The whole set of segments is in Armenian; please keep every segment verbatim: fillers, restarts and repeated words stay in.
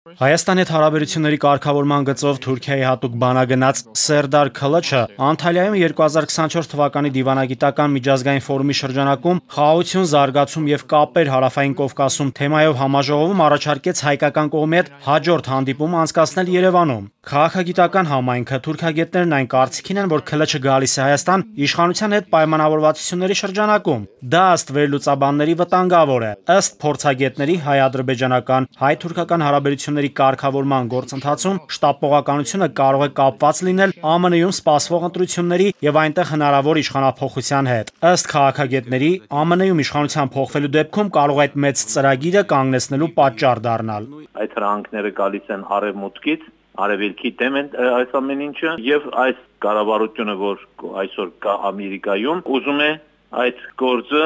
Հայաստանի հետ հարաբերությունների կարգավորման գծով Թուրքիայի հատուկ բանագնաց Սերդար Քլչը Անտալիայում երկու հազար քսանչորս թվականի դիվանագիտական միջազգային ֆորումի շրջանակում խաղաղություն, զարգացում եւ կապեր Հարավային Կովկասում թեմայով համաժողովում առաջարկեց հայկական կողմի հետ հաջորդ հանդիպում անցկացնել Երևանում։ Քաղաքագիտական համայնքը թուրքագետներն այն կարծիքին են, որ Քլչը գալիս է Հայաստան իշխանության հետ պայմանավորվածությունների շրջանակում։ Դա ըստ վերլուծաբանների վտանգավոր է։ Ըստ փորձագետների հայ-ադրբեջանական, հայ-թուրքական հարաբերությունների կարգավորման գործընթացում շտապողականությունը կարող է կապված լինել Է Մ Ն-ում սպասվող ընտրությունների եւ այնտեղ հնարավոր իշխանափոխության հետ։ Ըստ քաղաքագետների, Է Մ Ն-ում իշխանության փոխվելու դեպքում կարող է այդ մեծ ծրագիրը կանգնեցնելու պատճառ դառնալ։ Այդ հրանքները գալիս են արևմուտքից, արևելքի դեմ են այս ամեն ինչը եւ այս կառավարությունը, որ այսօր կա Ամերիկայում, ուզում է այդ գործը,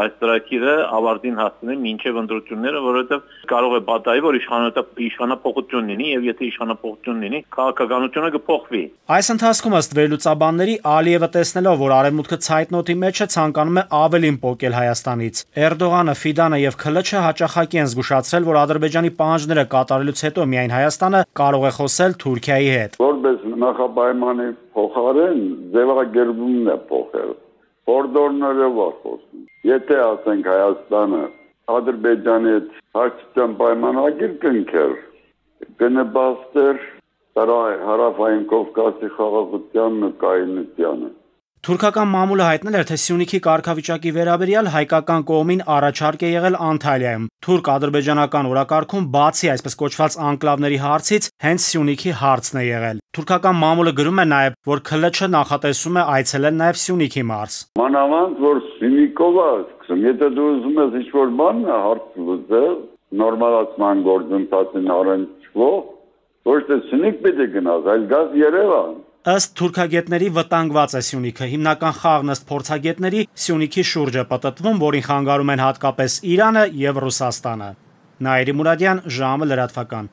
այս ծրագիրը ավարտին հասցնել մինչև ընտրությունները, որովհետեւ կարող է պատահի, որ իշխանափոխություն լինի եւ եթե իշխանափոխություն լինի, քաղաքականությունը կփոխվի։ Այս ընթացքում ըստ վերլուծաբանների Ալիևը տեսնելով, որ արևմուտքը ցայտնոթի մեջ է, ցանկանում է ավելին պոկել Հայաստանից։ Էրդողանը, Ֆիդանը եւ Քլչը հաճախակի են զգուշացրել, որ Ադրբեջանի պահանջները կատարելուց հետո միայն Հայաստանը կարող է խոսել Թուրքիայի հետ։ Որպես նախապայմանի փոխարեն ձևակերպումն է փոխել։ Օրդորները խոսում։ Եթե ասենք Հայաստանը Ադրբեջանի հետ հաշտության պայմանագիր կնքեր, կնպաստեր Հարավային Կովկասի խաղաղությանն ու կայունությանը։ Թուրքական մամուլը հայտնել էր, թե Սյունիքի կարգավիճակի վերաբերյալ հայկական կողմին առաջարկ է եղել Անտալիայում։ Թուրք-ադրբեջանական օրակարգում բացի այսպես կոչված անկլավների հարցից հենց Սյունիքի հարցն է եղել։ Թուրքական մամուլը գրում է նաև, որ Քլչը նախատեսում է այցելել նաև Սյունիքի մարզ։ Մանավանդ որ Սյունիքով է սկսում, եթե դու ուզում ես ինչ-որ բան հարց լուծել, նորմալացման գործընթացին առնչվող, ոչ թե Սյունիք պիտի գնաս, այլ գաս Երևան։ Ըստ թուրքագետների վտանգված է Սյունիքը, հիմնական խաղն ըստ փորձագետների Սյունիքի շուրջ է պտտվում, որին խանգարում են հատկապես Իրանը եւ Ռուսաստանը։ Նաիրի Մուրադյան, ժամը լրատվական։